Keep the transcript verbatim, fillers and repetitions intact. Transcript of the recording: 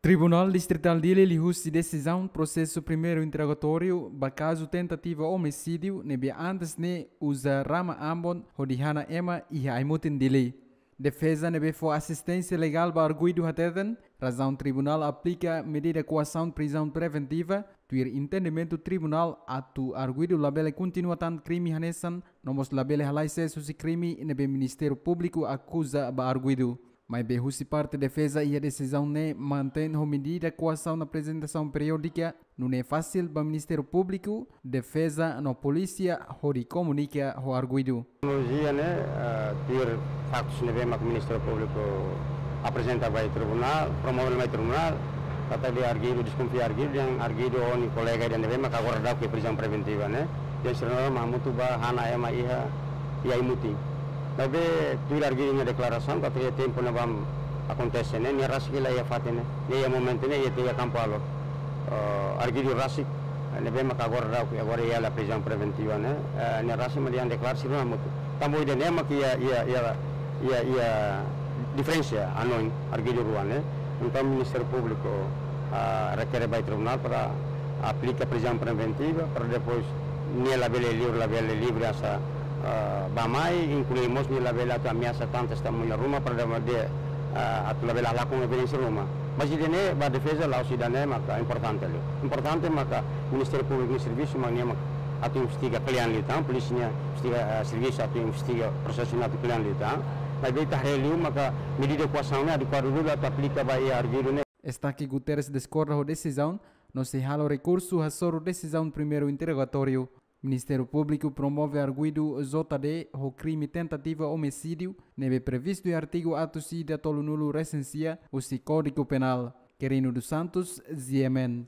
Tribunál Distritál Dili liuhusi desizaun prosesu primeiru interogatóriu ba kazu tentativa omisídiu ne'ebé antes ne'e uza rama ambon hodi hana ema iha ai-mutin Dili. Defeza ne'ebé fó asisténsia legál ba arguidu hateten, razaun tribunál aplika medida koasaun prizaun preventiva, tuir entendimentu tribunál atu arguidu labele kontinua tan krime hanesan, no mós labele halai sees husi krime ne'ebé Ministériu Públiku akuza ba arguidu. Maibé husi parte defeza iha desizaun ne'e mantein ho medida koasaun aprezentasaun periódika, nune'e fasil ba Ministériu Públiku, defeza no polísia hodi komunika ho arguidu. Kronolojia ne'e, eh, tuir faktus ne'ebé mak Ministériu Públiku aprezenta ba tribunál, promove ba tribunál, katak arguidu, deskonfia arguidu, dehan arguidu ho nia kolega ida ne'ebé mak agora daudauk iha prizaun preventiva ne'e, dehan sira na'in-rua mak hamutuk ba hana ema iha, iha ai-mutin. Maibé tuir arguidu nia deklarasaun, katak iha tempu ne'ebá akontese ne'e, nia rasik la iha fatin ne'e, nia iha momentu ne'e, iha tiha Kampu Alor. Eh, arguidu rasik, ne'ebé mak agora daudauk, agora iha hela prizaun preventiva ne'e, eh, nia rasik mak dehan deklara sira na'in-rua hamutuk. Tanba ida-ne'e mak iha, iha, iha, iha, iha diferensa hanoin arguidu rua ne'e. Entaun Ministériu Públiku, ah, rekere ba tribunál para aplika prizaun preventiva, para depois nia labele livre, labele livre asa, ah, bá-mai, inklui mós nia labele atu ameasa tan testemuña ruma, para de, de, ah, atu labele halakon evidénsia ruma. Mas ida-ne'e ba defeza la'ós ida-ne'e maka importante liu. Importante maka Ministériu Públiku nia servisu mak nia mak atu investiga kle'an liután, polísia nia investiga, eh, servisu atu investiga prosesu ne'e atu kle'an liután. Maibé ita haree liu maka medida koasaun ne'e adekuadu liu atu aplika ba iha arguidu ne'e. Estaque Guterres diskorda ho desizaun, no sei halo rekursu hasoru desizaun primeiru interogatóriu. Ministériu Públiku promove arguidu J D ho krime tentativa omisídiu, ne'ebé previstu iha artigu atus ida tolunulu resin sia husi Kódigu Penál. Quirino dos Santos, G M N.